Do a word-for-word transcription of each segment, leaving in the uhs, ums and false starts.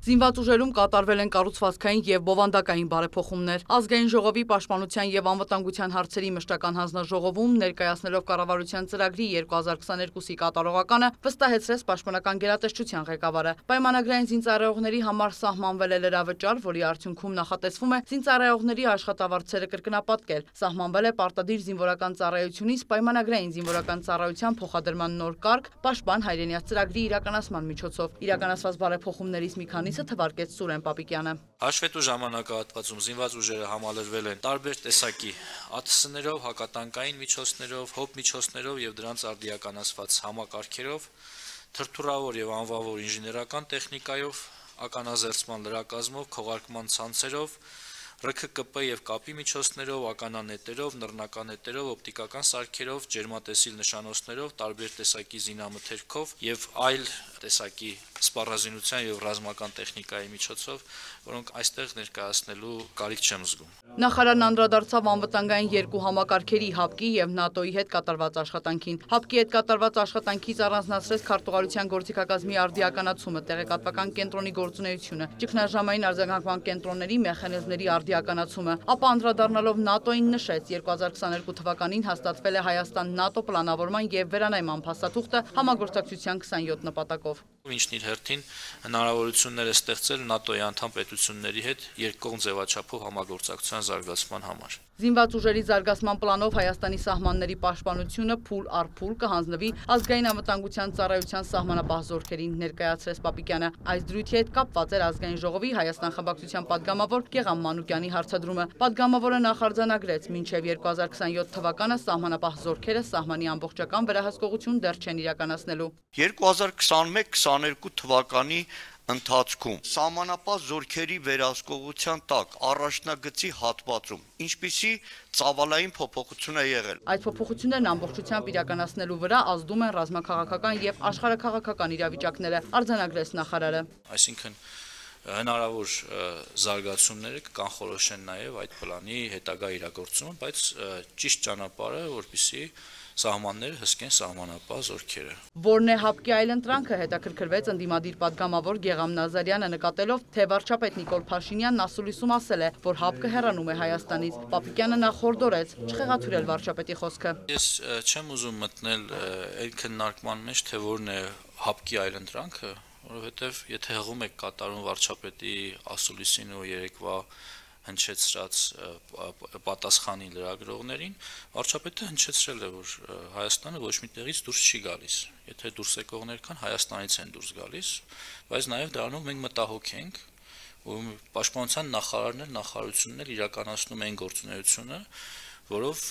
Զինված ուժերում կատարվել են կառուցվածքային եւ բովանդակային բարեփոխումներ։ Ազգային ժողովի պաշտպանության եւ անվտանգության հարցերի մշտական հանձնաժողովում ներկայացնելով կառավարության ծրագրի երկու հազար քսաներկուսի կատարողականը վստահեցրեց պաշտպանական գերատեսչության ղեկավարը։ Պայմանագրային զինծառայողների համար սահմանվել է լրավճար, որի արդյունքում նախատեսվում է զինծառայողների աշխատավարձերը կրկնապատկել։ Սահմանվել է պարտադիր զինվորական ծառայությունից պայմանագրային զինվորական ծառայության փոխադրման նոր կարգ պաշտպան հայրենիաց ծրագրի իրականացման միջոցով։ Իրականացված բարեփոխումներից մի քանի թվարկեց Սուրեն Պապիկյանը։ Հաշվետու ժամանակահատվածում զինված ուժերը համալրվել են տարբեր տեսակի ԱԹՍ-ներով, հակատանկային միջոցներով, հոբ միջոցներով եւ դրանց արդիականացված համակարգերով, թրթուրավոր եւ անվավոր ինժեներական տեխնիկայով, ականազերծման լրակազմով, քողարկման ցանցերով, ՌՔԿՊ եւ կապի միջոցներով, ականանետերով, նռնականետերով, օպտիկական սարքերով, ջերմատեսիլ նշանոցներով, տարբեր տեսակի զինամթերքով եւ այլ տեսակի սպառազինության եւ ռազմական տեխնիկայի միջոցով, որոնք այստեղ ներկայացնելու կարիք չեմ զգում։ Նախարարն անդրադարձավ անվտանգային երկու համակարգերի ՀԱՊԿ-ի եւ ՆԱՏՕ-ի հետ կատարված աշխատանքին։ ՀԱՊԿ-ի հետ կատարված աշխատանքից առանձնացրեց քարտուղարության գործիքակազմի արդիականացումը, տեղեկատվական կենտրոնի գործունեությունը, ճգնաժամային արձագանքման կենտրոնների մեխանիզմների արդիականացումը, ապա անդրադառնալով ՆԱՏՕ-ին նշեց երկու հազար քսաներկու թվականին հաստատվել է Հայաստան-ՆԱՏՕ պլանավորման եւ վերանայման փաստաթուղթը համագործակցության քսանյոթ նպատակով։ Ինչն իր հերթին հնարավորություններ է ստեղծել ՆԱՏՕ-ի անդամ պետությունների հետ երկկողմ ձևաչափով համագործակցության զարգացման համար։ Զինված ուժերի զարգացման պլանով Հայաստանի սահմանների պաշտպանությունը փուլ առ փուլ կհանձնվի ազգային անվտանգության ծառայության սահմանապահ զորքերին, ներկայացրեց Պապիկյանը։ Այս դրույթի հետ կապված էր ազգային ժողովի Հայաստան խմբակցության падգամավոր Գեգամ Մանուկյանի հարցադրումը։ Падգամավորը նախարձանագրեց, մինչև երկու հազար քսանյոթ թվականը սահմանապահ զորքերը սահմանի ամբողջական վերահսկողություն դեռ չեն իրականացնելու։ երկու հազար քսանմեկ քսաներկու թվականի ընթացքում սահմանապահ զորքերի վերահսկողության տակ առաջնագծի հատվածում ինչպիսի ծավալային փոփոխություն է եղել։ Այդ փոփոխություններն ամբողջությամբ իրականացնելու վրա ազդում են ռազմաքաղաքական եւ աշխարհաքաղաքական իրավիճակները, արձանագրեց նախարարը։ Այսինքն հնարավոր զարգացումները կանխորոշեն նաև այդ պլանի հետագա իրագործումը, բայց ճիշտ ճանապարհը, որպեսզի սահմանները հսկեն սահմանապահ զորքերը։ Որն է ՀԱՊԿ-ի այլընտրանքը, հետաքրքրվեց ընդդիմադիր падգամավոր Գեգամ Նազարյանը, նկատելով, թե վարչապետ Նիկոլ Փաշինյանն ասուլիսում ասել է, որ ՀԱՊԿ-ը հեռանում է Հայաստանից։ Պապիկյանը նախորդորեց չխեղաթյուրել վարչապետի խոսքը։ Ես չեմ ուզում մտնել այն քննարկման մեջ, թե որն է ՀԱՊԿ-ի այլընտրանքը, որովհետև եթե հղում եք կատարում վարչապետի ասուլիսին ու երեկվա հնչեցրած պատասխանի լրագրողներին, վարչապետը հնչեցրել է, որ Հայաստանը ոչ մի տեղից դուրս չի գալիս։ Եթե դուրս եկողներ կան, Հայաստանից են դուրս գալիս, բայց նաև դրանով մենք մտահոգ ենք, ու պաշտպանության նախարարն էլ նախարարությունն էլ իրականացնում են գործունեությունը, որով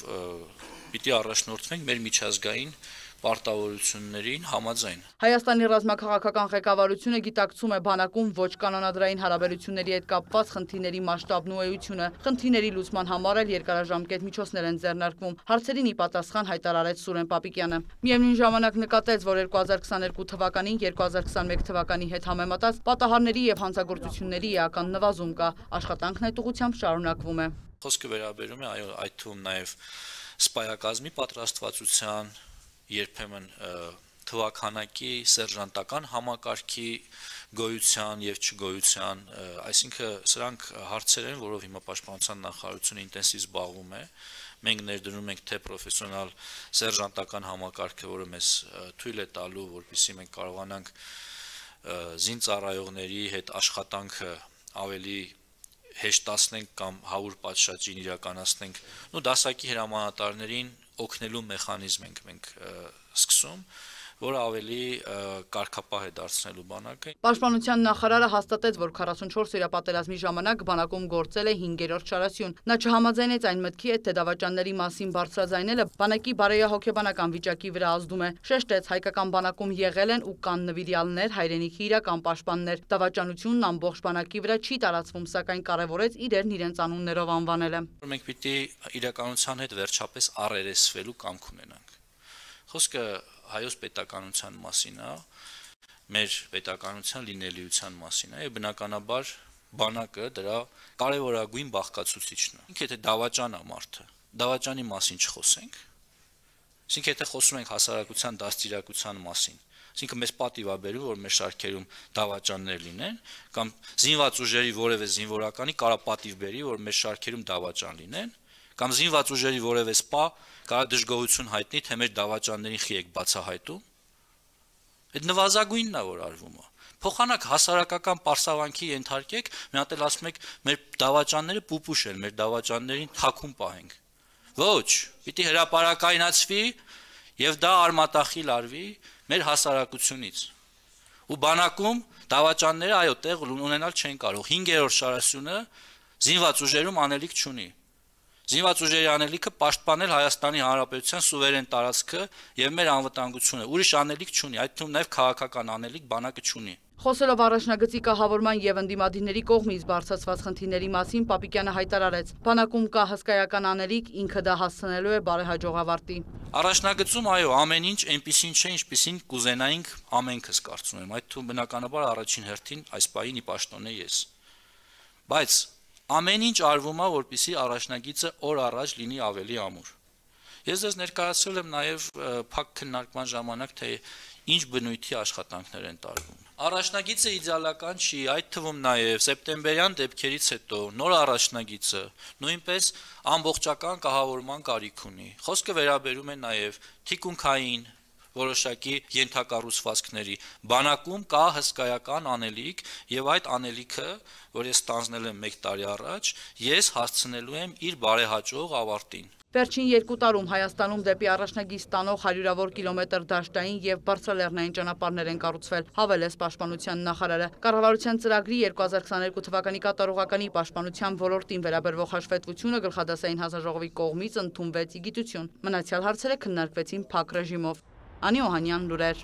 պիտի առաջնորդվենք մեր միջազգային պարտավորություններին համաձայն։ Հայաստանի ռազմաքաղաքական ղեկավարությունը գիտակցում է բանակում ոչ կանոնադրային հարաբերությունների հետ կապված խնդիրների մասշտաբն ու էությունը։ Խնդիրների լուծման համար էլ երկարաժամկետ միջոցներ են ձեռնարկվում։ Հարցերին ի պատասխան հայտարարեց Սուրեն Պապիկյանը։ Միևնույն ժամանակ նկատեց, որ երկու հազար քսաներկու թվականին երկու հազար քսանմեկ թվականի հետ համեմատած պատահարների եւ հանցագործությունների էական նվազում կա։ Աշխատանքն այդ ուղղությամբ շարունակվում է։ Խոսքը վերաբերում է այո, այդ թվում նաև սպայակազմի պատրաստվածության, երբեմն թվականակի սերժանտական համակարգի գոյության եւ չգոյության, այսինքն սրանք հարցեր են, որով հիմա պաշտպանության նախարարությունը ինտենսիվ զբաղվում է։ Մենք ներդրում ենք թե պրոֆեսիոնալ սերժանտական համակարգը, որը մեզ թույլ է տալու, որպեսզի մենք կարողանանք զինծառայողների հետ աշխատանքը ավելի հեշտացնենք կամ հավուր պատշաճին իրականացնենք, ու դասակի հրամանատարներին օգնելու մեխանիզմ ենք մենք սկսում, որը ավելի կարգապահ է դարձնելու բանակը։ Պաշտպանության նախարարը հաստատեց, որ քառասունչորս օրապատերազմի ժամանակ բանակում գործել է հինգերորդ շարասյուն։ Նա չհամաձայնեց այն մտքի հետ, թե դավաճանների մասին բարձրաձայնելը բանակի բարոյահոգեբանական վիճակի վրա ազդում է։ Շեշտեց, հայկական բանակում եղել են ու կան նվիրյալներ, հայրենիքի իրական պաշտպաններ։ Դավաճանությունն ամբողջ բանակի վրա չի տարածվում, սակայն կարևորեց իրերն իրենց անուններով անվանելը։ Մենք պիտի իրականության հետ վերջապես առերեսվելու կամք ունենանք։ Խոսքը հայոց պետականության մասին է, մեր պետականության լինելիության մասին է, եւ բնականաբար բանակը դրա կարևորագույն բաղկացուցիչն է։ Ինքը եթե դավաճան է մարդը, դավաճանի մասին չխոսենք, այսինքն եթե խոսում ենք հասարակության դաստիարակության մասին, Այսինքն մեզ պատիվ է բերում, որ մեր շարքերում դավաճաններ լինեն, կամ զինված ուժերի որևէ զինվորականի կարա պատիվ բերի, որ մեր շարքերում դավաճան լինեն, կամ զինված ուժերի որևէ սպա կարա դժգոհություն հայտնի, թե մեր դավաճաններին խի եք բացահայտում։ Այդ նվազագույնն է, որ արվում է։ Փոխանակ հասարակական պարսավանքի ենթարկեք, մի հատ էլ ասում եք, մեր դավաճանները պուպուշ են, մեր դավաճաններին թաքուն պահենք։ Ոչ, պիտի հրապարակայնացվի եւ դա արմատախիլ արվի մեր հասարակությունից։ Ու բանակում դավաճանները այո տեղ ունենալ չեն կարող։ հինգերորդ շարասյունը զինված ուժերում անելիք չունի։ Զինված ուժերի անելիքը պաշտպանել Հայաստանի Հանրապետության սուվերեն տարածքը եւ մեր անվտանգությունը։ Ուրիշ անելիք չունի, այդ թվում նաեւ քաղաքական անելիք բանակը չունի։ Խոսելով առաջնագծի կահավորման եւ ընդդիմադիրների կողմից բարձրացված խնդիրների մասին Պապիկյանը հայտարարեց. բանակում կա հսկայական անելիք, ինքը դա հասցնելու է բարեհաջող ավարտի։ Առաջնագծում այո ամեն ինչ այնպեսին չէ, ինչպեսին կուզենայինք ամենքս կարծում եմ, այդ թվում բնականաբար առաջին հերթին այս պահին ի պաշտոն է ես։ Բայց ամեն ինչ արվում է, որպեսզի առաջնագիծը օր առաջ լինի ավելի ամուր։ Ես ձեզ ներկայացրել եմ նաև փակ քննարկման ժամանակ, թե ինչ բնույթի աշխատանքներ են տարվում։ Առաջնագիծը իդեալական չի, այդ թվում նաև սեպտեմբերյան դեպքերից հետո նոր առաջնագիծը նույնպես ամբողջական կահավորման կարիք ունի։ Խոսքը վերաբերում է նաև թիկունքային որոշակի ենթակառուցվածքների։ Բանակում կա հսկայական անելիք եւ այդ անելիքը, որ ես ստանձնել եմ մեկ տարի առաջ, ես հասցնելու եմ իր բարեհաջող ավարտին։ Վերջին երկու տարում Հայաստանում դեպի առաջնագիծ տանող հարյուրավոր կիլոմետր դաշտային եւ բարձրալեռնային ճանապարհներ են կառուցվել, հավելեց Պաշտպանության նախարարը։ Կառավարության ծրագրի երկու հազար քսաներկու թվականի կատարողականի պաշտպանության ոլորտին վերաբերող հաշվետվությունը գլխադասային հանձնաժողովի կողմից ընդունվեց ի գիտություն։ Մնացյալ հարցերը քննարկվեցին փակ ռեժիմով։ Անի Օհանյան, լուրեր։